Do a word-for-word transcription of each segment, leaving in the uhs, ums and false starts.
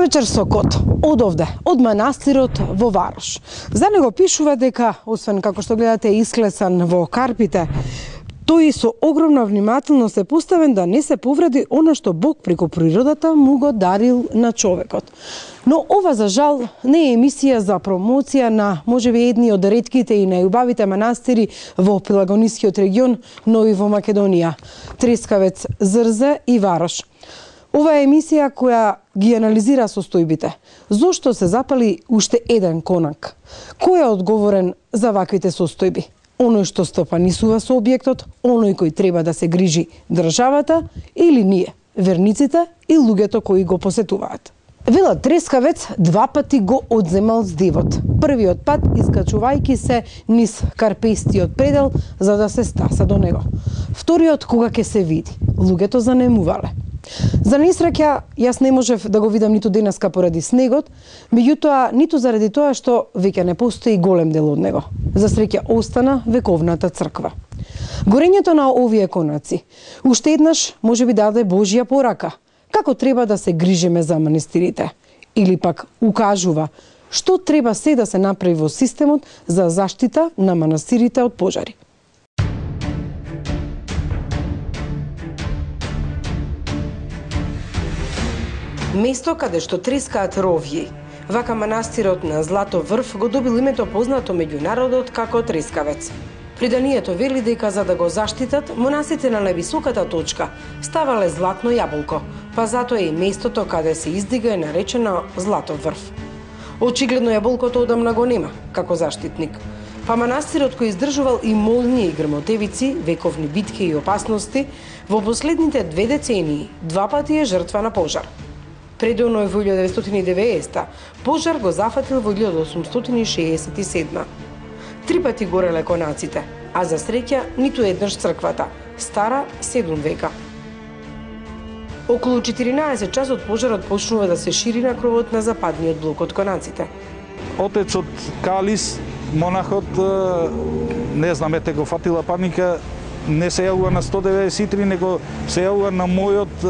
Добро вечер со Кот. Од овде, од манастирот во Варош. За него пишува дека, освен како што гледате исклесан во карпите, тој со огромна внимателност е поставен да не се повреди она што Бог преку природата му го дарил на човекот. Но ова за жал не е емисија за промоција на можеби едни од ретките и најубавите манастири во Пелагонискиот регион, но и во Македонија. Трескавец, Зрзе и Варош. Ова е емисија која ги анализира состојбите. Зошто се запали уште еден конак? Кој е одговорен за ваквите состојби? Оној што стопанисува со објектот, оној кој треба да се грижи државата или ние, верниците и луѓето кои го посетуваат? Велат Трескавец два пати го одземал здивот. Првиот пат искачувајќи се низ карпестиот предел за да се стаса до него. Вториот кога ќе се види. Луѓето занемувале. За несреќа, јас не можев да го видам ниту денеска поради снегот, меѓутоа ниту заради тоа што веќе не постои голем дел од него. За среќа остана вековната црква. Горењето на овие конаци уште еднаш може би даде Божја порака. Како треба да се грижиме за манастирите? Или пак укажува што треба се да се направи во системот за заштита на манастирите од пожари. Место каде што трескаат ровји, вака манастирот на Златов врв го добил името познато меѓу народот како Трескавец. Преданието вели дека за да го заштитат, монасите на највисоката точка ставале златно јаболко, па затоа и местото каде се издига е наречено Златов врв. Очигледно јаболкото одамна го нема, како заштитник. Па манастирот кој издржувал и молњи и грмотевици, вековни битки и опасности, во последните две децении два пати е жртва на пожар. Предоно е во илјада деветстотини и деветдесета, пожар го зафатил во илјада осумстотини шеесет и седма. Три пати гореле конаците, а за среќа ниту еднаш црквата, стара седум века. Околу четиринаесет часот пожарот почнува да се шири на кровот на западниот блок од конаците. Отецот Калис, монахот, не знам, ете го фатила паника, не се јавува на сто деветдесет и три, него се јавува на мојот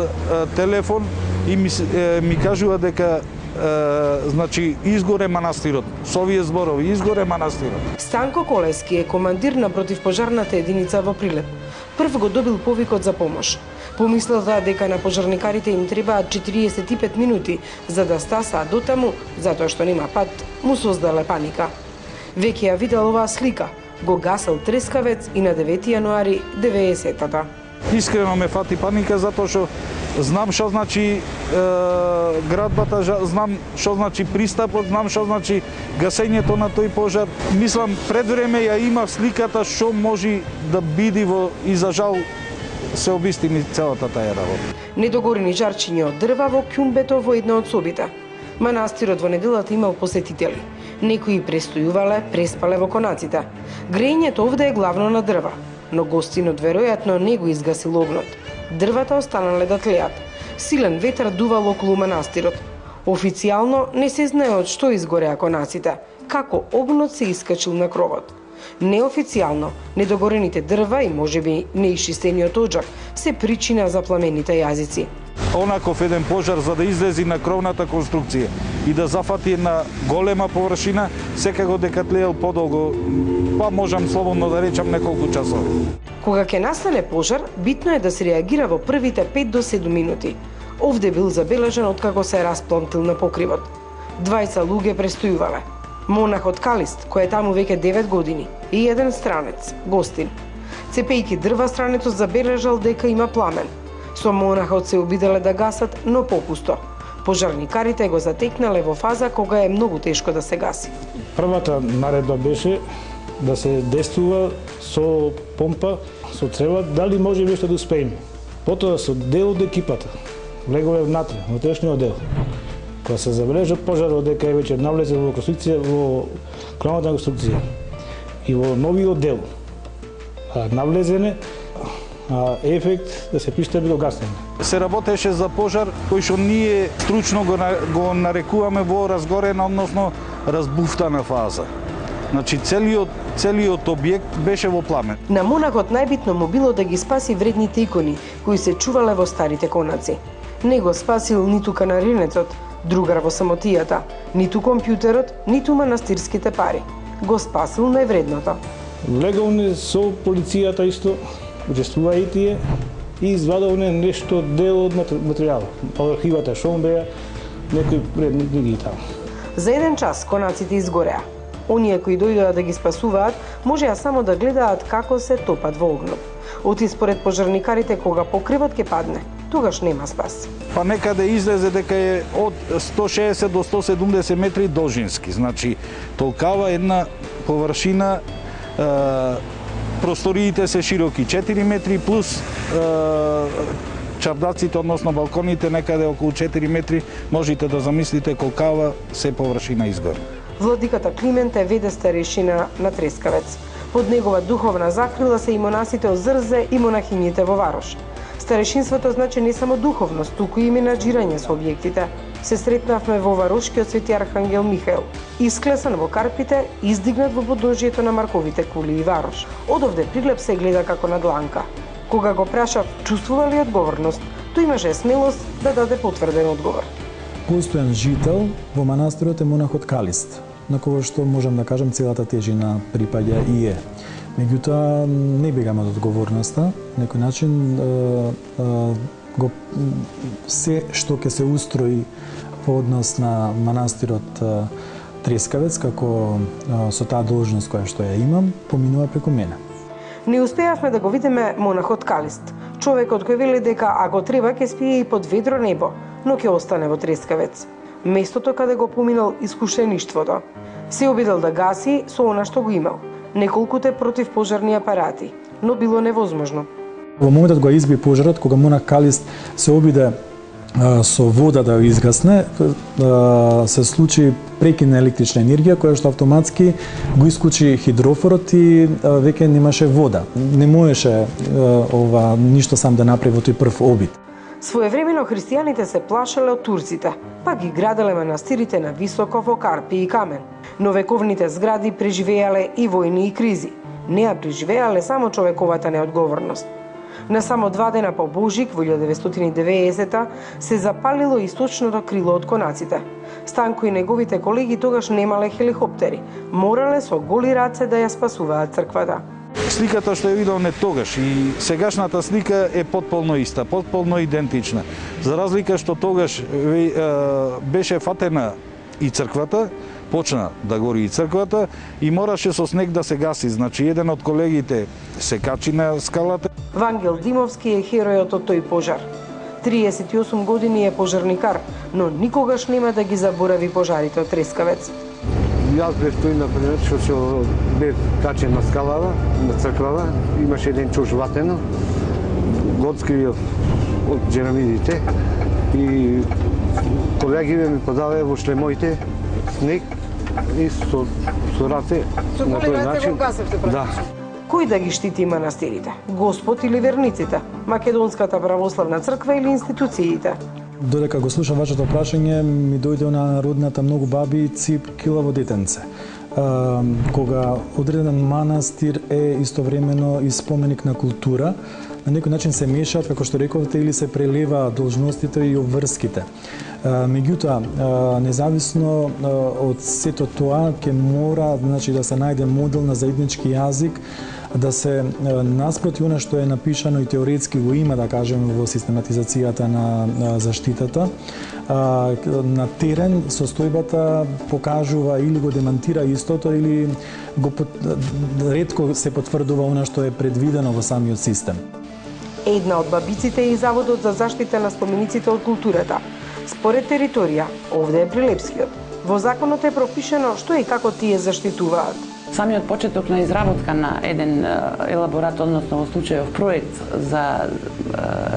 телефон и ми, е, ми кажува дека е, значи изгоре манастирот. Со овие зборови изгоре манастирот. Станко Колески е командир на противпожарната единица во Прилеп. Прв го добил повикот за помош. Помислел дека на пожарникарите им требаат четириесет и пет минути за да стасаат дотаму, затоа што нема пат, му создале паника. Веќе ја видел оваа слика. Го гасел Трескавец и на девети јануари деветдесетата. Искрено ме фати паника затоа што знам што значи е, градбата, знам што значи пристапот, знам што значи гасењето на тој пожар. Мислам, пред време ја имав сликата што може да биде во и за жал се обистини целата таа работа. Недогорени жарчиња од дрва во ќумбето во една од собите. Манастирот во неделата имал посетители. Некои престојувале, преспале во конаците. Грејењето овде е главно на дрва, но гостинот веројатно не го изгасил огнот. Дрвата останале да тлеат. Силен ветар дувал околу манастирот. Официјално не се знае од што изгореа конаците, како огнот се искачил на кровот. Неофицијално, недогорените дрва и можеби неишчистениот оџак се причина за пламените јазици. Онаков еден пожар за да излези на кровната конструкција и да зафати една голема површина, секако дека тлеел подолго, па можам слободно да речам неколку часови. Кога ќе настане пожар, битно е да се реагира во првите пет до седум минути. Овде бил забележен откако се расплантил на покривот. Двајца луѓе престојувале. Монахот Калист, кој е таму веќе девет години, и еден странец, гостин. Цепејќи дрва, странецот забележал дека има пламен. Со монахот се обиделе да гасат, но попусто. Пожарникарите го затекнале во фаза кога е многу тешко да се гаси. Првата наредба беше да се действува со помпа, со трева, дали може нешто да успееме. Потоа со дел од екипата влегове внатре, во трешниот дел. Кога се забележа пожарот дека е веќе навлезе во конструкција, во кровната конструкција и во новиот дел, а навлезене, а ефект да се пристапи до гасење. Се работеше за пожар кој што ние стручно го, го нарекуваме во разгорена, односно разбуфтана фаза. Значи целиот целиот објект беше во пламен. На монахот најбитно му било да ги спаси вредните икони кои се чувале во старите конаци. Не го спасил ниту канаринецот, Другар во самотијата, ниту компјутерот, ниту манастирските пари. Го спасил највредното. Легалне со полицијата исто, учествува и тие, и извадовне нешто дел од материјал. Архивата што беа, некои предмети ги таму. За еден час конаците изгореа. Оние кои дојдоа да ги спасуваат, можеа само да гледаат како се топат во огнот. Оти според пожарникарите, кога покривот ќе падне, тогаш нема спас. Па некаде излезе дека е од сто шеесет до сто седумдесет метри должински. Значи, толкава една површина, е, просториите се широки четири метри, плюс е, чардаците, односно балконите, некаде околу четири метри, можете да замислите колкава се површина изгоре. Владиката Климент е веде старешина на Трескавец. Под негова духовна закрила се и монасите од Зрзе и монахињите во Варош. Старешинството значи не само духовност, туку и менаџирање со објектите. Се сретнавме во Варошкиот Свети Архангел Михаел, исклесан во Карпите, издигнат во подножјето на Марковите кули и Варош. Одовде приглед се гледа како на дланка. Кога го прашав чувствува ли одговорност, тој имаше смелост да даде потврден одговор. Постојан жител во манастирот е монахот Калист, на кого што можам да кажам целата тежина припаѓа и е. Меѓутоа не бегаме од одговорноста, на некој начин е, е, го се што ќе се устрои по однос на манастирот е, Трескавец како е, со таа должност која што ја имам, поминува преку мене. Не успеавме да го видиме монахот Калист, човекот кој вели дека ако треба ќе спие и под ведро небо, но ќе остане во Трескавец. Местото каде го поминал искушеништвото. Се обидел да гаси со она што го имал. Неколкуте противпожарни апарати, но било невозможно. Во моментот го изби пожарот, кога монах Калист се обиде а, со вода да ја изгасне, а, се случи прекин на електрична енергија, која што автоматски го исклучи хидрофорот и а, веќе немаше вода. Не можеше а, ова ништо сам да направи во тој прв обид. Своевремено христијаните се плашеле од турците, па ги граделе манастирите на високо во карпи и камен. Но вековните згради преживеале и војни и кризи. Не ја преживеале само човековата неодговорност. На само два дена по Божик во илјада деветстотини и деветдесета се запалило источното крило од конаците. Станко и неговите колеги тогаш немале хеликоптери, морале со голи раце да ја спасуваат црквата. Сликата што ја видовме тогаш и сегашната слика е потполно иста, потполно идентична. За разлика што тогаш беше фатена и црквата, почна да гори и црквата и мораше со снег да се гаси. Значи, еден од колегите се качи на скалата. Вангел Димовски е херојот од тој пожар. триесет и осум години е пожарникар, но никогаш нема да ги заборави пожарите од Трескавец. Јас бев тој, например, што се бев качен на скалава, на црквава, имаше еден чуш ватено, го откривил од джерамидите и колегиве ми подаве во шлемоите снег и со, со раце на тој начин. Да. Кој да ги штити манастирите? Господ или верниците? Македонската православна црква или институциите? Додека го слушам вашето прашање, ми дојде на народната многу баби цип килаво детенце. А, кога одреден манастир е истовремено и споменик на култура, на некој начин се мешаат, како што рековте, или се прелива должностите и обврските. Меѓутоа, независно од сето тоа, ќе мора, значи, да се најде модел на заеднички јазик, да се наспроти она што е напишано и теоретски го има, да кажеме, во систематизацијата на заштитата. На терен состојбата покажува или го демантира истото, или го ретко се потврдува она што е предвидено во самиот систем. Една од бабиците е и Заводот за заштита на спомениците од културата. Според територија, овде е Прилепскиот. Во законот е пропишено што и како тие заштитуваат. Самиот почеток на изработка на еден елаборат, односно во случајов проект за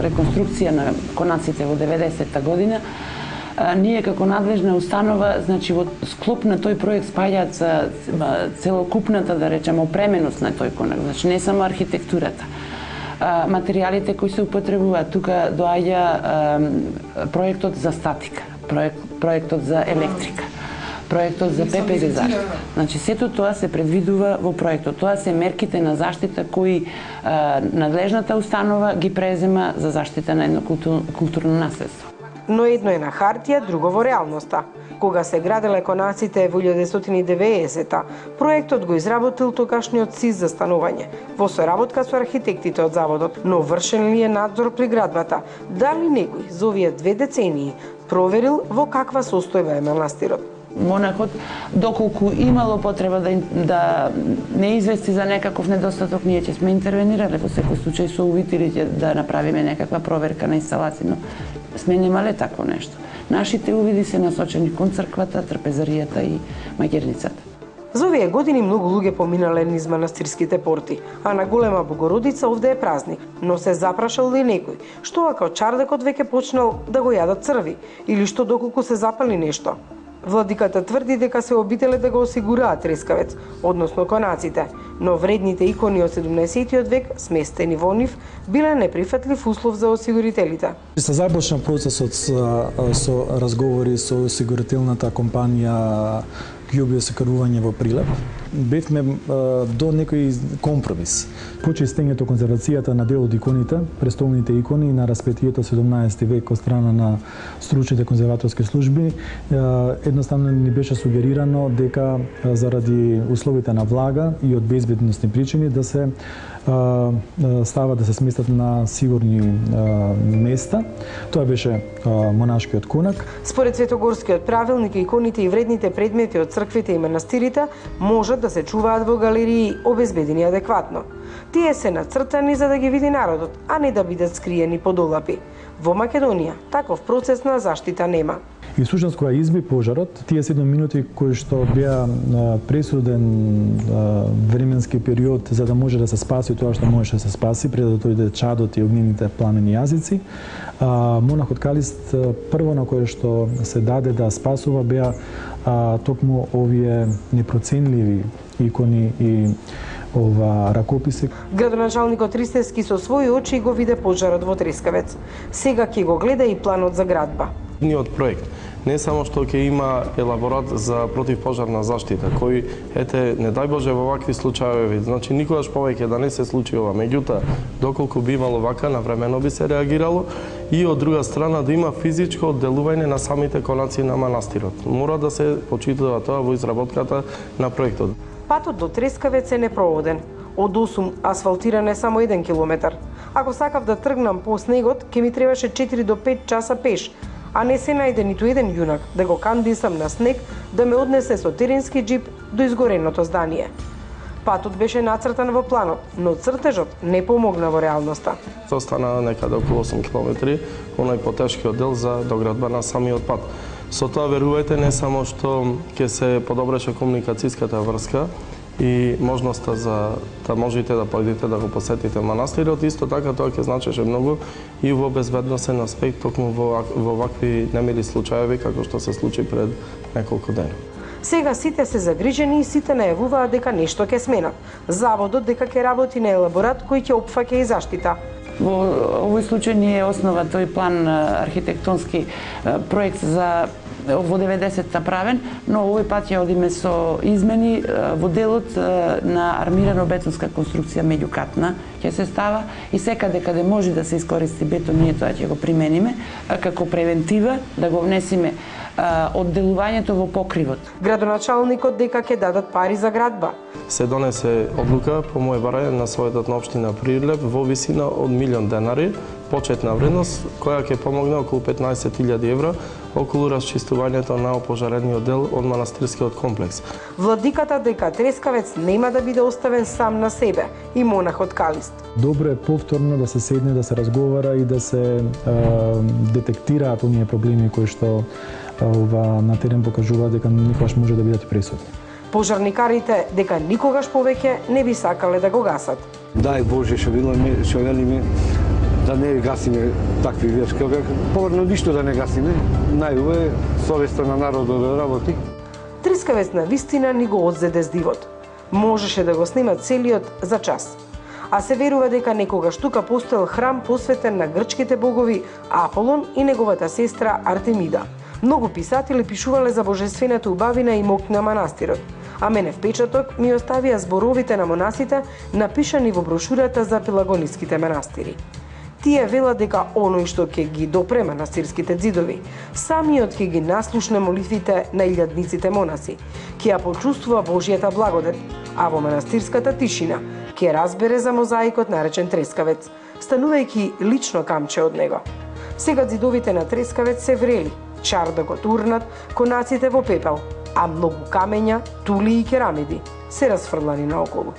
реконструкција на конаците во деветдесетта година, ние како надлежна установа, значи во склоп на тој проект спаѓаат целокупната, да речеме, опременост на тој конак, значи не само архитектурата. Материјалите кои се употребуваат, тука доаѓа проектот за статика, проект, проектот за електрика, проектот за ПП Г заштита. Значи, сето тоа се предвидува во проектот. Тоа се мерките на заштита кои а, надлежната установа ги презема за заштита на едно култур, културно наследство. но едно е на хартија, друго во реалноста. Кога се граделе конаците во илјада деветстотини и деветдесета, проектот го изработил тогашниот СИЗ за станување, во соработка со архитектите од заводот, но вршен ли е надзор при градбата? Дали некој за овие две децении проверил во каква состојба е манастирот? Монахот, доколку имало потреба да, да не извести за некаков недостаток, ние ќе сме интервенирале во секој случај со увидите да направиме некаква проверка на инсталација, но сме немале такво нешто. Нашите увиди се насочени кон црквата, трпезаријата и маќерницата. За овие години многу луѓе поминале низ манастирските порти, а на Голема Богородица овде е празник, но се запрашал ли некој, што ако чардакот веќе почнал да го јадат црви, или што доколку се запали нешто. Владиката тврди дека се обителе да го осигураат трескавец, односно конаците, но вредните икони од седумнаесеттиот век, сместени во нив, биле неприфатлив услов за осигурителите. Се започна процесот со, со разговори со осигурителната компанија Ѓубио осигурување во Прилеп. Бевме до некој компромис. Почи стењето конзервацијата на дел од иконите, престолните икони на распетието седумнаесети век од страна на стручните конзерваторски служби, едноставно ни беше сугерирано дека заради условите на влага и од безбедносни причини да се става да се сместат на сигурни места. Тоа беше монашкиот конак. Според Светогорскиот правилник, иконите и вредните предмети од црквите и манастирите можат да се чуваат во галерии обезбедени адекватно. Тие се нацртани за да ги види народот, а не да бидат скриени под олапи. Во Македонија таков процес на заштита нема. И всушност кога изби пожарот, тие седум минути кои што беа пресуден временски период за да може да се спаси тоа што можеше да се спаси пред да дојде чадот и огнените пламени јазици, монахот Калист прво на кое што се даде да спасува беа токму овие непроценливи икони и ова ракописи. Градоначалникот Ристевски со своји очи го виде пожарот во Трескавец. Сега ќе го гледа и планот за градба. Ниот проект не само што ќе има елаборат за противпожарна заштита, кој, ете, не дај Боже во вакви случаи, значи никогаш повеќе да не се случи ова. Меѓутоа, доколку би имало вака, навремено би се реагирало и од друга страна да има физичко одделување на самите конаци на манастирот. Мора да се почитува тоа во изработката на проектот. Патот до Трескавец е непроводен. Од осум асфалтиран е само еден километар. Ако сакав да тргнам по снегот, ќе ми требаше четири до пет часа пеш, а не се најде ниту еден јунак да го кандисам на снег да ме однесе со теренски джип до изгореното здание. Патот беше нацртан во планот, но цртежот не помогна во реалноста. Остана некаде околу осум километри, оној потешкиот дел за доградба на самиот пат. Со тоа, верувајте, не само што ќе се подобреше комуникацијската врска и можноста за да можете да појдете да го посетите манастирот, исто така тоа ќе значеше многу и во безбедносен аспект, токму во, во вакви немили случаеви како што се случи пред неколку дена. Сега сите се загрижени и сите најавуваат дека нешто ќе сменат. Заводот дека ќе работи на елаборат кој ќе опфаќа и заштита. Во овој случај не е основа тој план архитектонски проект за во деветдесетта правен, но овој пат ќе одиме со измени во делот на армирано бетонска конструкција меѓукатна ќе се става и секаде каде може да се искористи бетон, ние тоа ќе го примениме како превентива, да го внесиме одделувањето во покривот. Градоначалникот дека ќе дадат пари за градба. Се донесе одлука по моје барање на Советот на општина Прилеп во висина од милион денари, почетна вредност, која ќе помогне околу петнаесет илјади евра околу расчистувањето на опожарениот дел од манастирскиот комплекс. Владиката дека Трескавец нема да биде оставен сам на себе и монахот Калист. Добро е повторно да се седне, да се разговара и да се е, детектираат оние проблеми кои што ова на терен покажуваат дека никогаш може да бидат пресудни. Пожарникарите дека никогаш повеќе не би сакале да го гасат. Дај Боже, што велиме, што велиме, да не гасиме такви вешки. Поврно ништо да не гасиме, најубаво е совеста на народот да работи. Трескавец на вистина ни го одзеде здивот. Можеше да го снима целиот за час. А се верува дека некогаш тука постоел храм посветен на грчките богови Аполон и неговата сестра Артемида. Многу писатели пишувале за божествената убавина и мок на манастирот, а мене впечаток ми оставија зборовите на монасите напишани во брошурата за пелагониските манастири. Тие велат дека оној што ќе ги допре манастирските ѕидови, самиот ќе ги наслушне молитвите на илјадниците монаси, ќе ја почувствува Божјата благодат, а во манастирската тишина ќе разбере за мозаикот наречен Трескавец, станувајќи лично камче од него. Сега ѕидовите на Трескавец се врели, чар да го турнат конаците во пепел, а многу камења, тули и керамиди се расфрлани наоколу.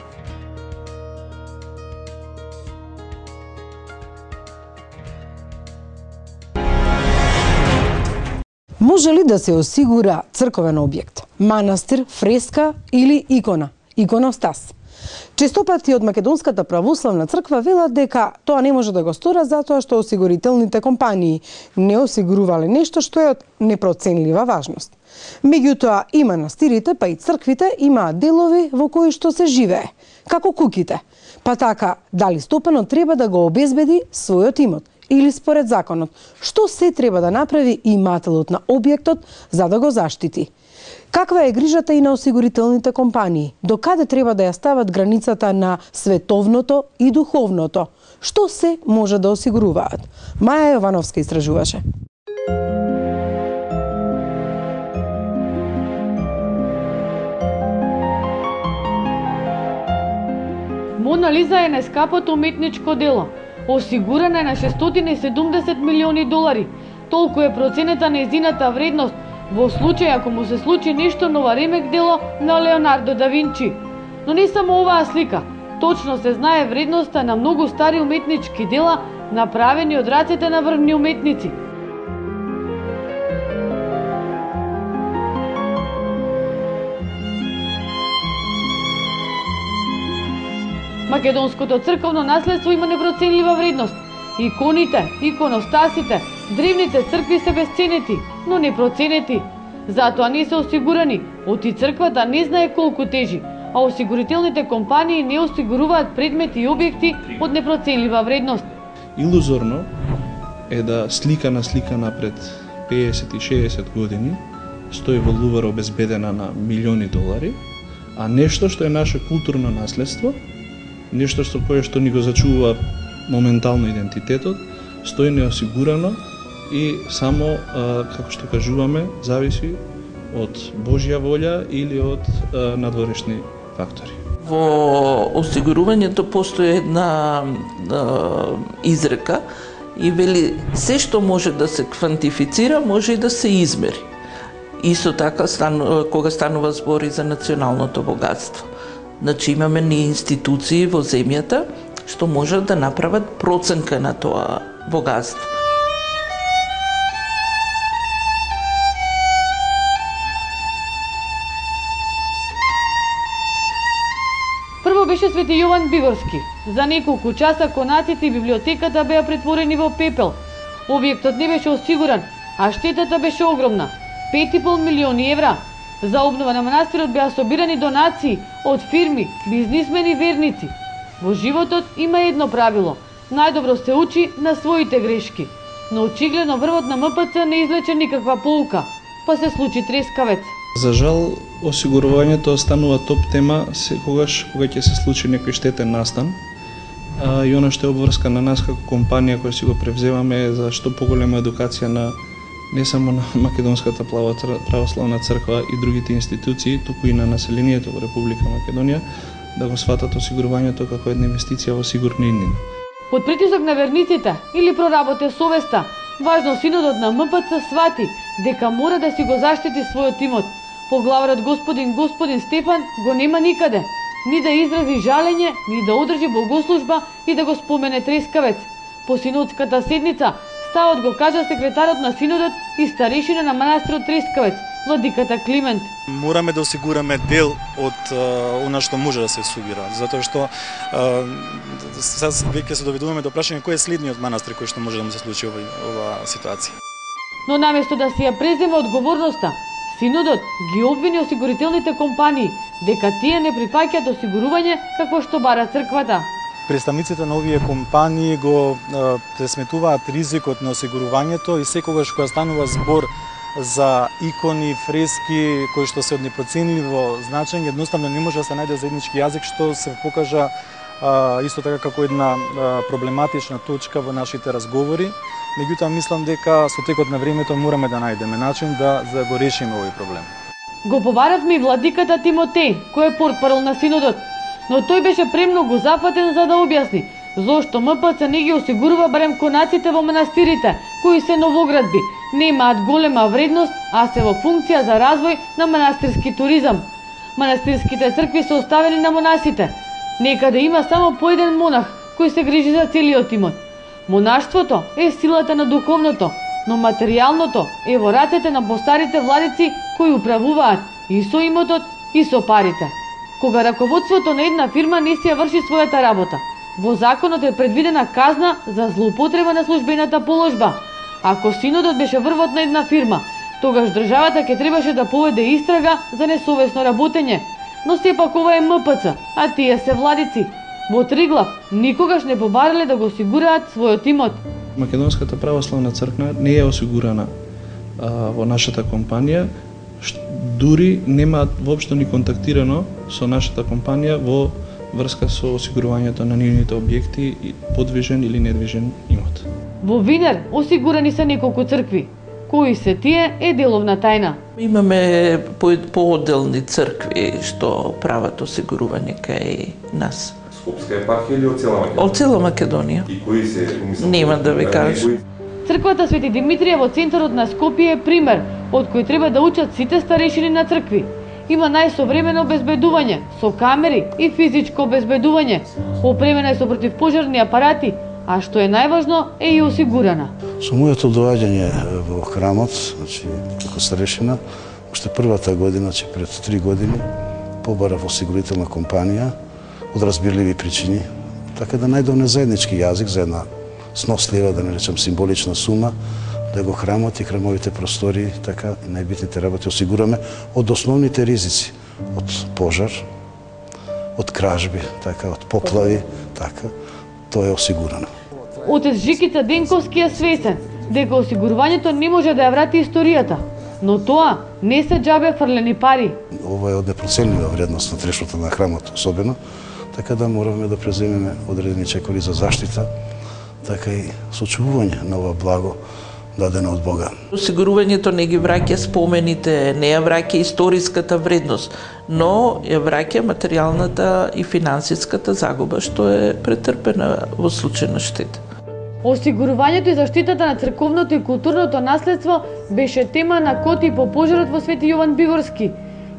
Може ли да се осигура црковен објект, манастир, фреска или икона, иконостас? Честопати од Македонската православна црква велат дека тоа не може да го стора затоа што осигурителните компании не осигурувале нешто што е од непроценлива важност. Меѓутоа и манастирите, па и црквите имаат делови во кои што се живее, како куќите. Па така, дали стопанот треба да го обезбеди својот имот или според законот, што се треба да направи имателот на објектот за да го заштити? Каква е грижата и на осигурителните компании? До каде треба да ја стават границата на световното и духовното? Што се може да осигуруваат? Маја Јовановска истражуваше. Мона Лиза е најскапото уметничко дело. Осигурана е на шестстотини и седумдесет милиони долари. Толку е проценета на нејзината вредност во случај ако му се случи нешто нова ремек дело на Леонардо да Винчи. Но не само оваа слика. Точно се знае вредноста на многу стари уметнички дела направени од рацете на врвни уметници. Македонското црковно наследство има непроценлива вредност. Иконите, иконостасите, древните цркви се безценети, но непроценети. Затоа не се осигурани, оти црквата не знае колку тежи, а осигурителните компании не осигуруваат предмети и објекти од непроценлива вредност. Илузорно е да слика на слика напред педесет и шеесет години стои во Лувар обезбедена на милиони долари, а нешто што е наше културно наследство, нешто што кое што ни го зачува моментално идентитетот, стои неосигурано и само, а, како што кажуваме, зависи од Божја волја или од а, надворешни фактори. Во осигурувањето постои една а, изрека и вели се што може да се квантифицира, може и да се измери. Исто така, стану, кога станува збори за националното богатство. Значи имаме ни институции во земјата што можат да направат проценка на тоа богатство. Прво беше Свети Јован Бигорски. За неколку часа конаците и библиотеката беа претворени во пепел. Објектот не беше осигуран, а штетата беше огромна – пет и пол милиони евра. За обнова на манастирот беа собирани донации од фирми, бизнисмени и верници. Во животот има едно правило – најдобро се учи на своите грешки. Но очигледно врвот на М П Ц не извлече никаква поука, па се случи Трескавец. За жал, осигурувањето останува топ тема секогаш кога ќе се случи некој штетен настан. А, и она што е обврска на нас како компанија која си го превземаме за што поголема едукација на не само на Македонската православна црква и другите институции, туку и на населението во Република Македонија, да го сватат осигурувањето како една инвестиција во сигурна иднина. Под притисок на верниците или проработе совеста, важно синодот на М П Ц свати дека мора да си го заштити својот имот. Поглаварот господин господин Стефан го нема никаде, ни да изрази жалење, ни да одржи богослужба и да го спомене Трескавец. По синодската седница ставот го кажа секретарот на синодот и старешина на манастирот Трескавец, владиката Климент. Мораме да осигураме дел од uh, она што може да се осигура, затоа што uh, сега веќе се доведуваме до прашање кој е следниот манастир кој што може да му се случи ова, ова ситуација. Но наместо да си ја преземе одговорноста, синодот ги обвини осигурителните компании дека тие не прифаќаат осигурување како што бара црквата. Представниците на овие компании го пресметуваат ризикот на осигурувањето и секогаш кога станува збор за икони, фрески кои што се од непроценливо значење, едноставно не може да се најде заеднички јазик што се покажа а, исто така како една а, проблематична точка во нашите разговори. Меѓутоа мислам дека со текот на времето мораме да најдеме начин да, да го решиме овој проблем. Го побаравме и владиката Тимотеј, кој е портпарол на синодот, но тој беше премногу зафатен за да објасни зошто М П Ц не ги осигурува барем конаците во манастирите, кои се новоградби, немаат голема вредност, а се во функција за развој на манастирски туризам. Манастирските цркви се оставени на монасите. Некаде има само по еден монах кој се грижи за целиот имот. Монаштвото е силата на духовното, но материјалното е во рацете на постарите владици кои управуваат и со имотот и со парите. Кога раководството на една фирма не си ја врши својата работа, во законот е предвидена казна за злоупотреба на службената положба. Ако синодот беше врвот на една фирма, тогаш државата ќе требаше да поведе истрага за несовесно работење. Но сепак ова е М П Ц, а тие се владици. Во Триглав никогаш не побарале да го осигураат својот имот. Македонската православна црква не е осигурана а, во нашата компанија, дури нема воопшто ни контактирано со нашата компанија во врска со осигурувањето на нивните објекти, подвижен или недвижен имот. Во Винер осигурани се неколку цркви. Кои се тие е деловна тајна. Имаме поодделни цркви што прават осигурување кај нас. Скопска епархија или од цела Македонија? Од цела Македонија. И кои се, помислам, нема да ви кажам. Црквата Свети Димитрија во центарот на Скопје е пример од кој треба да учат сите старешини на цркви. Има најсовремено обезбедување со камери и физичко обезбедување. Опремена е со противпожарни апарати, а што е најважно е и осигурана. Со моето доаѓање во храмот, значи како старешина, уште првата година, значи пред три години, побарав осигурителна компанија од разбирливи причини, така да најдовме заеднички јазик за една снослива, да не речам символична сума, да го храмот и храмовите простори, така и најбитните работи осигураме од основните ризици, од пожар, од кражби, така, од поплави, така, тоа е осигурано. Отец Жикица Денковски е свесен дека осигурувањето не може да ја врати историјата, но тоа не се џабе фрлени пари. Ова е од непроценлива вредност на трешото на храмот особено, така да мораме да преземеме одредени чекори за заштита, така и сочувување на ова благо дадено од Бога. Осигурувањето не ги враќа спомените, не ја враќа историската вредност, но ја враќа материјалната и финансиската загуба што е претрпена во случај на штета. Осигурувањето и заштитата на црковното и културното наследство беше тема на коти по пожарот во Свети Јован Биворски.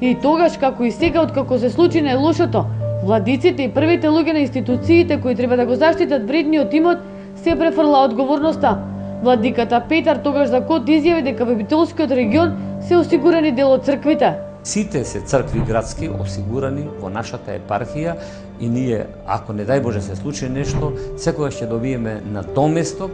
И тогаш, како и сега, откако се случи најлошото, владиците и првите луѓе на институциите кои треба да го заштитат вредниот имот се префрла одговорноста. Владиката Петар тогаш за код изјави дека во Битолскиот регион се осигурани дел од црквите. Сите се цркви градски осигурани во нашата епархија и ние, ако не дај Боже се случи нешто, секогаш ќе добиеме надоместок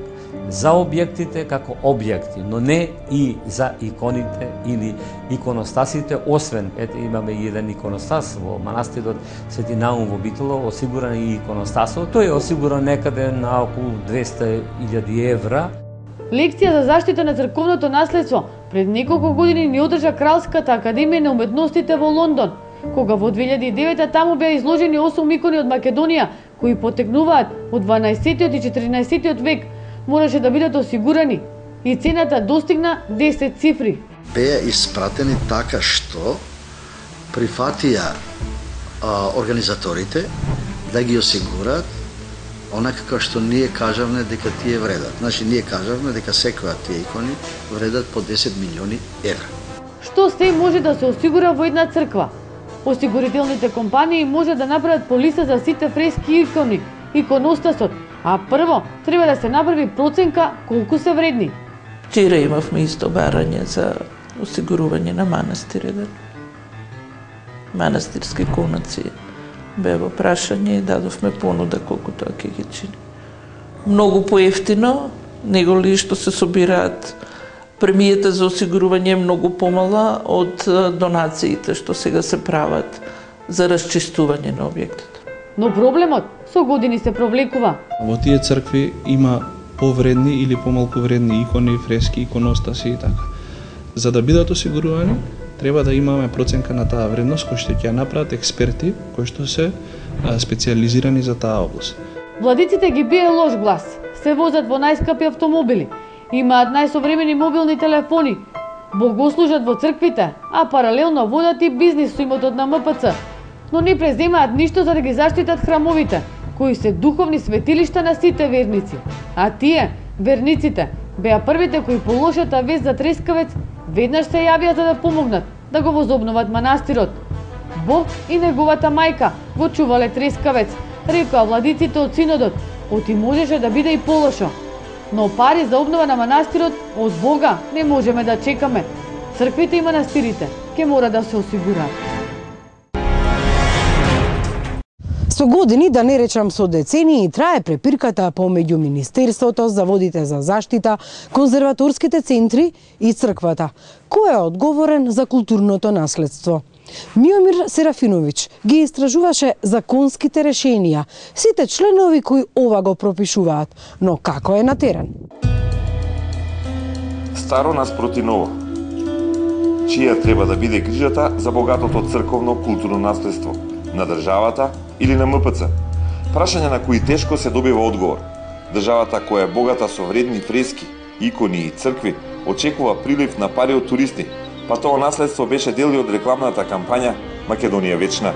за објектите како објекти, но не и за иконите или иконостасите, освен, ете имаме и еден иконостас во манастирот Свети Наум во Битоло, осигуран и иконостасот, тој е осигуран некаде на околу двесте илјади евра. Лекција за заштита на црковното наследство пред неколку години ни одржа Кралската академија на уметностите во Лондон, кога во две илјади и девета таму беа изложени осум икони од Македонија кои потекнуваат од дванаесеттиот и четиринаесеттиот век, мораше да бидат осигурани и цената достигна десет цифри. Беа испратени така што прифатија а, организаторите да ги осигурат онака како што ние кажавме дека тие вредат. Значи, ние кажавме дека секоја тие икони вредат по десет милиони евра. Што се може да се осигура во една црква? Осигурителните компании може да направат полиса за сите фрески икони, иконостасот, а прво треба да се направи проценка колку се вредни. Вчера имавме исто барање за осигурување на манастир еден. Манастирски конаци. Бе во прашање и дадовме понуда колку тоа ќе ги чини. Многу поевтино, него ли што се собираат премијата за осигурување е многу помала од донациите што сега се прават за расчистување на објектот. Но проблемот со години се провлекува. Во тие цркви има повредни или помалку вредни икони, фрески, иконостаси и така. За да бидат осигурувани, треба да имаме проценка на таа вредност која што ќе ја направат експерти кои што се специјализирани за таа област. Владиците ги бие лош глас, се возат во најскапи автомобили, имаат најсовремени мобилни телефони, богослужат во црквите, а паралелно водат и бизнис со имотот на М П Ц, но не преземаат ништо за да ги заштитат храмовите, кои се духовни светилишта на сите верници. А тие, верниците, беа првите кои по лошата вест за Трескавец веднаш се јавија за да помогнат да го возобноват манастирот. Бог и неговата мајка го чувале Трескавец, рекоа владиците од синодот, оти можеше да биде и полошо. Но пари за обнова на манастирот од Бога не можеме да чекаме. Црквите и манастирите ќе мора да се осигураат. Со години, да не речам со децении, трае препирката помеѓу Министерството за водите за заштита, конзерваторските центри и црквата. Кој е одговорен за културното наследство? Миомир Серафинович ги истражуваше законските решенија, сите членови кои ова го пропишуваат, но како е на терен? Старо наспроти ново. Чија треба да биде грижата за богатото црковно културно наследство? На државата или на М П Ц? Прашање на кои тешко се добива одговор. Државата која е богата со вредни фрески, икони и цркви, очекува прилив на пари од туристи, па тоа наследство беше дел од рекламната кампања Македонија вечна.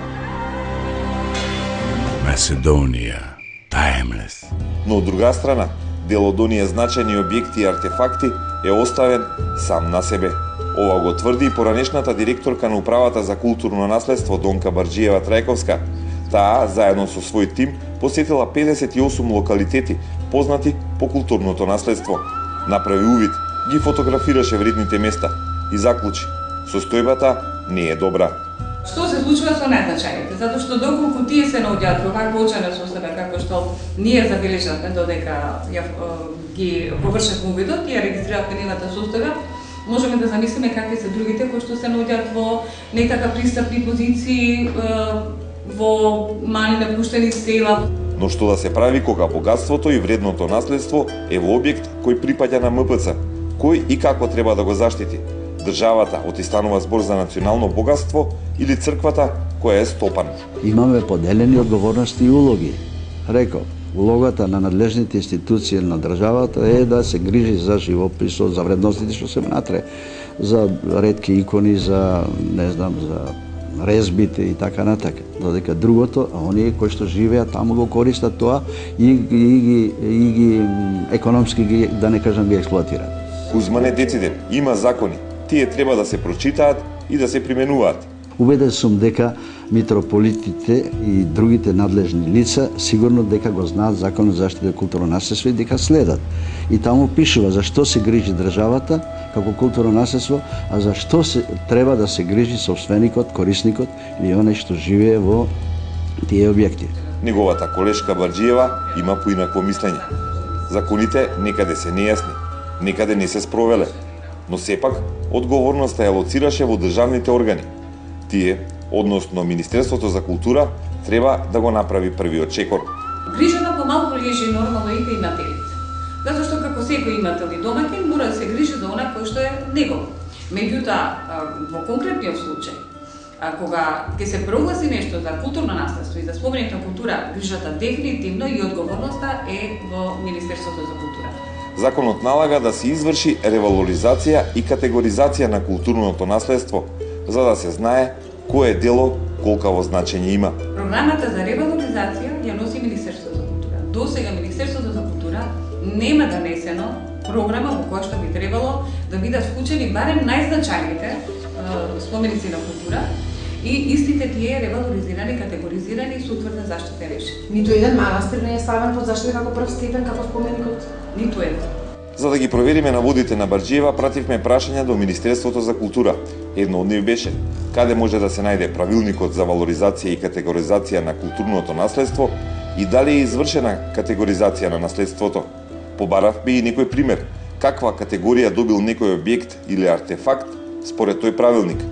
Macedónia, timeless. Но од друга страна, дел од оние значајни објекти и артефакти е оставен сам на себе. Ова го тврди и поранешната директорка на Управата за културно наследство Донка Барџиева Трајковска. Таа, заедно со свој тим, посетила педесет и осум локалитети, познати по културното наследство. Направи увид, ги фотографираше вредните места и заклучи: состојбата не е добра. Што се случува со најзначајните? Затоа што доколку тие се наоѓаат во вакво очена состојба како што ние забележавме додека ја ги површевме увидот и ја регистриравме нивната состојба, можеме да замислиме какви се другите кои што се наоѓаат во не така пристапни позиции, во мали напуштени села. Но што да се прави кога богатството и вредното наследство е во објект кој припаѓа на М П Ц? Кој и како треба да го заштити? Државата, оти станува збор за национално богатство, или црквата која е стопан? Имаме поделени одговорности и улоги. Реков, улогата на надлежните институции на државата е да се грижи за живописот, за вредностите што се внатре, за ретки икони, за не знам, за резбите и така натака. Додека другото, а оние кои што живеат таму го користат тоа и, и, и, и ги економски ги, да не кажам, ги експлоатираат. Кузмане дециден, има закони. Тие треба да се прочитаат и да се применуваат. Убеден сум дека митрополитите и другите надлежни лица сигурно дека го знаат Законот за заштита културно наследство и дека следат. И таму пишува за што се грижи државата како културно наследство, а за што се треба да се грижи собственикот, корисникот или оној што живее во тие објекти. Неговата колешка Барџиева има поинакво мислење. Законите некаде се нејасни, некаде не се спровеле, но сепак одговорноста ја лоцираше во државните органи. Тие, односно Министерството за култура, треба да го направи првиот чекор. Грижата помалку лежи нормално и кај имателите. Затоа што како секој имател и домаќин мора да се грижи за она кој што е негово. Меѓутоа, во конкретниот случај, а кога ќе се прогласи нешто за културно наследство и за споменик на култура, грижата дефинитивно и одговорноста е во Министерството за култура. Законот налага да се изврши ревалоризација и категоризација на културното наследство, за да се знае кое дело колкаво значење има. Програмата за ревалоризација ја носи Министерството за култура. До сега Министерството за култура нема донесено програма во која што би требало да бидат вклучени барем најзначајните споменици на култура и истите тие ревалоризирани, категоризирани со утврдна заштита решени. Ниту еден манастир не е ставен под заштита како прв степен, како споменикот? Ниту еден. За да ги провериме наводите на Барџиева, пративме прашања до Министерството за култура. Едно од нив беше: каде може да се најде правилникот за валоризација и категоризација на културното наследство и дали е извршена категоризација на наследството. Побаравме и некој пример, каква категорија добил некој објект или артефакт според тој правилник.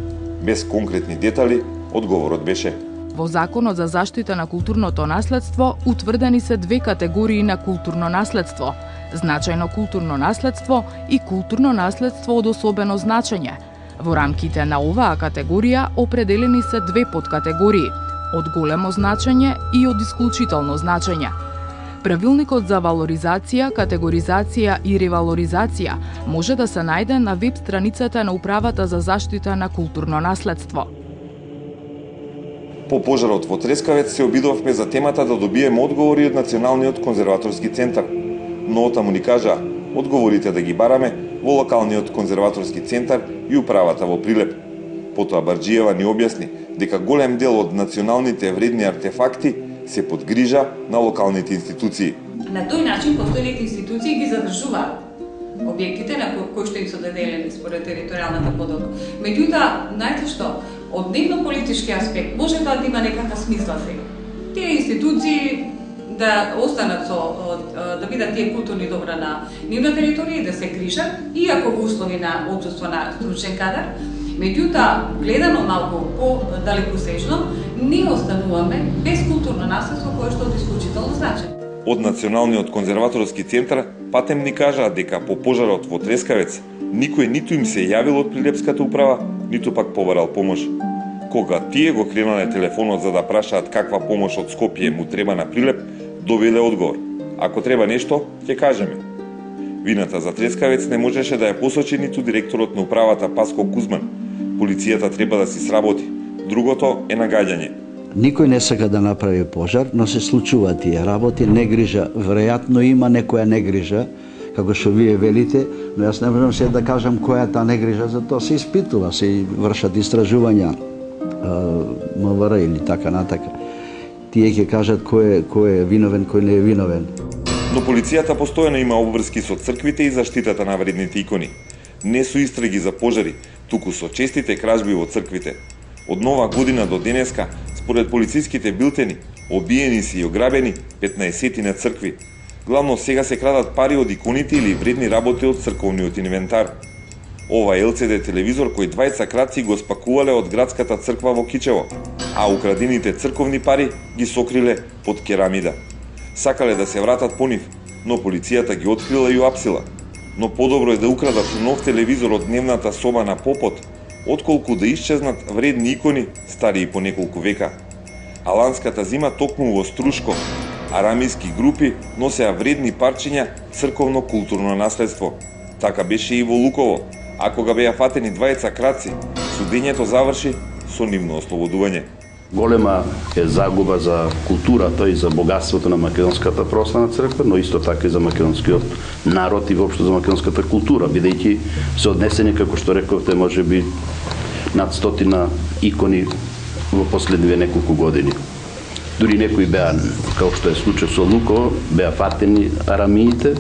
Без конкретни детали, одговорот беше: во Законот за заштита на културното наследство утврдени се две категории на културно наследство: значајно културно наследство и културно наследство од особено значење. Во рамките на оваа категорија определени се две подкатегории: од големо значење и од исклучително значење. Правилникот за валоризација, категоризација и ревалоризација може да се најде на веб страницата на Управата за заштита на културно наследство. По пожарот во Трескавец се обидовме за темата да добиеме одговори од Националниот конзерваторски центар. Но отаму ни кажа, одговорите да ги бараме во локалниот конзерваторски центар и управата во Прилеп. Потоа Барџиева ни објасни дека голем дел од националните вредни артефакти се под грижа на локалните институции. На тој начин постојните институции ги задржуваат објектите на кои што им се доделени според територијалната подоба. Меѓутоа, знаете што, од дневно-политички аспект може да има некаква смисла сега. Тие институции да останат со, да бидат тие културни добра на нивна територија и да се грижат, иако во услови на отсуство на стручен кадар. Меѓутоа, гледано малку по-далекосежно, ние остануваме без културно наследство кое што е од исклучително значење. Од Националниот конзерваторски центар патем ни кажаа дека по пожарот во Трескавец никој ниту им се јавил од Прилепската управа, ниту пак побарал помош. Кога тие го кренале телефонот за да прашаат каква помош од Скопје му треба на Прилеп, добиле одговор. Ако треба нешто, ќе кажеме. Вината за Трескавец не можеше да ја посочи ниту директорот на управата Паско Кузман. Полицијата треба да си сработи. Другото е нагаѓање. Никој не сака да направи пожар, но се случуваат тие работи, негрижа, веројатно има некоја негрижа, како што вие велите, но јас не можам се да кажам која е таа негрижа, затоа се испитува, се вршат истражувања МВР или така натака. Тие ќе кажат кој е, кој е виновен, кој не е виновен. Но полицијата постојано има обврски со црквите и заштитата на вредните икони. Не со истраги за пожари, туку со честите кражби во црквите. Од нова година до денеска, според полициските билтени, обиени си и ограбени петнаесет цркви. Главно сега се крадат пари од иконите или вредни работи од црковниот инвентар. Ова Ел Си Ди телевизор кој двајца крадци го спакувале од градската црква во Кичево, а украдените црковни пари ги сокриле под керамида. Сакале да се вратат по нив, но полицијата ги открила и уапсила. Но подобро е да украдат нов телевизор од дневната соба на попот, отколку да исчезнат вредни икони стари по неколку века. Аланската зима токму во Струшко, арамиски групи носеа вредни парчиња црковно културно наследство. Така беше и во Луково, а кога беа фатени двајца крадци, судењето заврши со нивно ослободување. Голема е загуба за културата и за богатството на македонската православна црква, но исто така и за македонскиот народ и воопшто за македонската култура, бидејќи се однесени, како што рековте, можеби над стотина икони во последниве неколку години. Дури некои беа, како што е случај со Луково, беа фатени арамиите,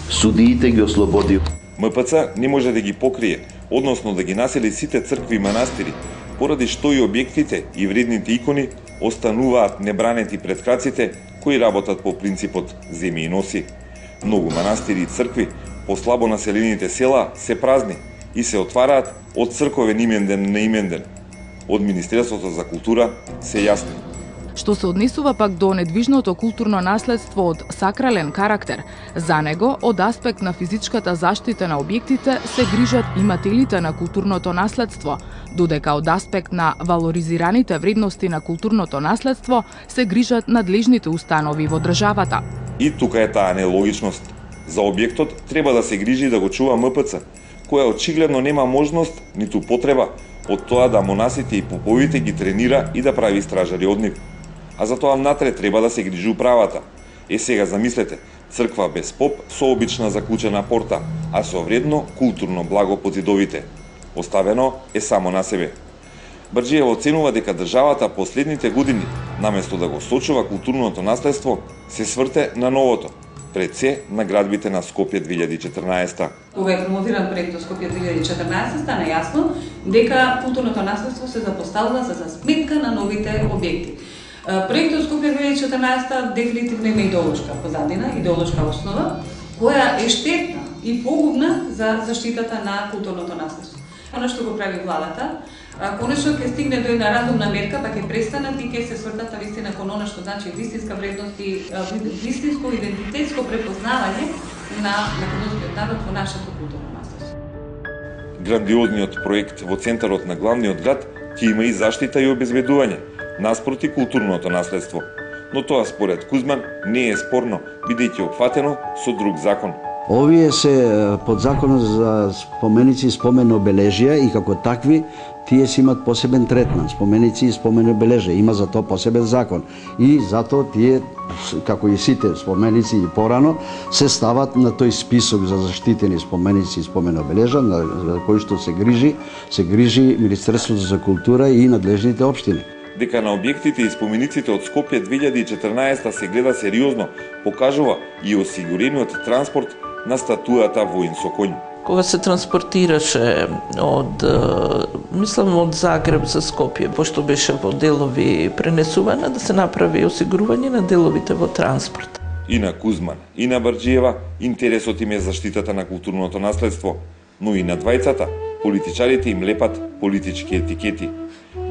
судиите ги ослободи. М П Ц не може да ги покрие, односно да ги насели сите цркви и манастири, поради што и објектите и вредните икони остануваат небранети пред краците кои работат по принципот земи и носи. Многу манастири и цркви по слабо населените села се празни и се отвараат од црковен именден на именден. Од Министерството за култура се јасни. Што се однесува пак до недвижното културно наследство од сакрален карактер, за него, од аспект на физичката заштита на објектите, се грижат имателите на културното наследство, додека од аспект на валоризираните вредности на културното наследство се грижат надлежните установи во државата. И тука е таа нелогичност. За објектот треба да се грижи да го чува М П Ц, која очигледно нема можност, ниту потреба, од тоа да монасите и поповите ги тренира и да прави стражари од нив. А за тоа внатре треба да се грижи управата. Е сега замислете, црква без поп со обична заклучена порта, а со вредно културно благо под зидовите. Оставено е само на себе. Барџиева оценува дека државата последните години, наместо да го сочува културното наследство, се сврте на новото, пред се на градбите на Скопје две илјади и четрнаесета. Кога е промовиран проектот Скопје две илјади и четрнаесета, стана јасно дека културното наследство се запоставува за сметка на новите објекти. Проектот Скопје две илјади и четрнаесета дефинитивно има идеолошка позадина, идеолошка основа, која е штетна и погубна за заштитата на културното наследство. Оно што го прави владата, конечно ќе стигне до една разумна мерка, па ќе престанат и ќе се свртат навистина кон она што значи вистинска вредност и вистинско идентитетско препознавање на македонскиот народ во нашето културно наследство. Грандиозниот проект во центарот на главниот град ќе има и заштита и обезбедување, наспроти културното наследство. Но тоа според Кузман не е спорно, бидејќи опфатено со друг закон. Овие се под законот за споменици и спомен обележија и како такви тие си имат посебен третман. Споменици и спомен обележија има за тоа посебен закон. И затоа тие, како и сите споменици и порано, се стават на тој список за заштитени споменици и спомен обележја, на кој што се грижи, се грижи Министерството за култура и надлежните општини. Дека на објектите и спомениците од Скопје две илјади и четрнаесетта се гледа сериозно, покажува и осигурениот транспорт на статујата воин со коњ. Кога се транспортираше од, мислам, од Загреб за Скопје, пошто беше во делови пренесувана, да се направи осигурување на деловите во транспорт. И на Кузман, и на Барџиева, интересот им е заштитата на културното наследство, но и на двајцата, политичарите им лепат политички етикети,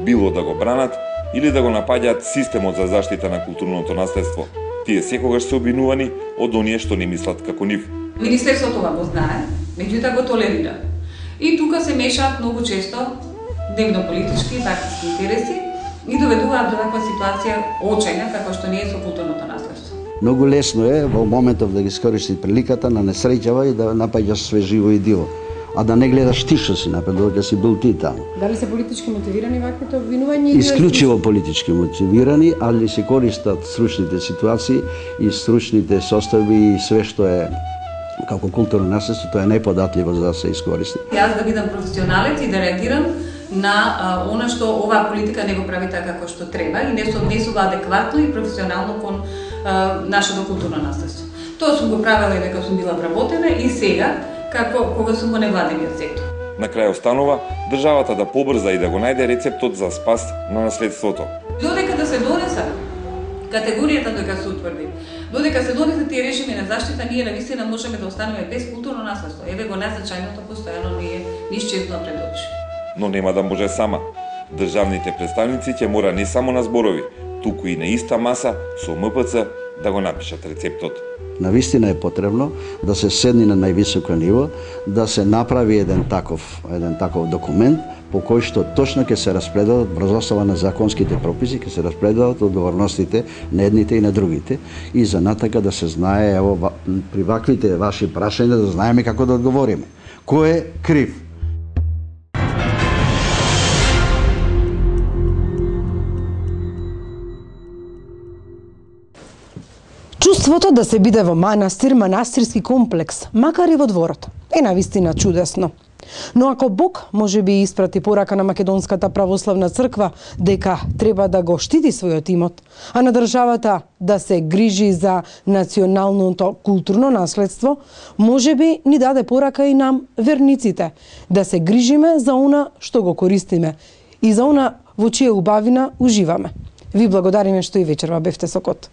било да го бранат или да го напаѓаат системот за заштита на културното наследство. Тие секогаш се обвинувани од оние што не мислат како нив. Министерството това го знае, меѓутоа го толерира. И тука се мешаат многу често дневно-политички и партиски интереси и доведуваат до таква ситуација очајна како што не е со културното наследство. Многу лесно е во моментов да ги искористи приликата на несреќава и да напаѓаш све живо и диво, а да не гледаш ти што си напред, додека си бил ти таму. Дали се политички мотивирани ваквите обвинувања? Исклучиво политички мотивирани, али се користат стручните ситуации и стручните состави и све што е како културно наследство, тоа е најподатливо за да се искористи. Јас да бидам професионалец и да реагирам на а, она што оваа политика не го прави така како што треба и не се однесува адекватно и професионално кон а, нашето културно наследство. Тоа сум го правела и дека сум била вработена и сега, како кога сум во невладениот сектор. На крај останува државата да побрза и да го најде рецептот за спас на наследството. Додека да се донеса категоријата дека се утврди, додека се донесат тие режими на заштита, ние навистина можеме да останеме без културно наследство. Еве го незначајното постојано ни е исчезнува пред очи. Но нема да може сама. Државните представници ќе мора не само на зборови, туку и на иста маса со М П Ц да го напишат рецептот. Навистина е потребно да се седни на највисоко ниво, да се направи еден таков, еден таков документ по кој што точно ќе се распределат врз основа на законските прописи, ќе се распределат одговорностите на едните и на другите и за натака да се знае, ево, при ваквите ваши прашања да знаеме како да одговориме. Кој е крив? Чувството да се биде во манастир, манастирски комплекс, макар и во дворот, е навистина чудесно. Но ако Бог може би испрати порака на Македонската православна црква дека треба да го штити својот имот, а на државата да се грижи за националното културно наследство, може би ни даде порака и нам, верниците, да се грижиме за она што го користиме и за она во чија убавина уживаме. Ви благодариме што и вечерва бевте со Кот.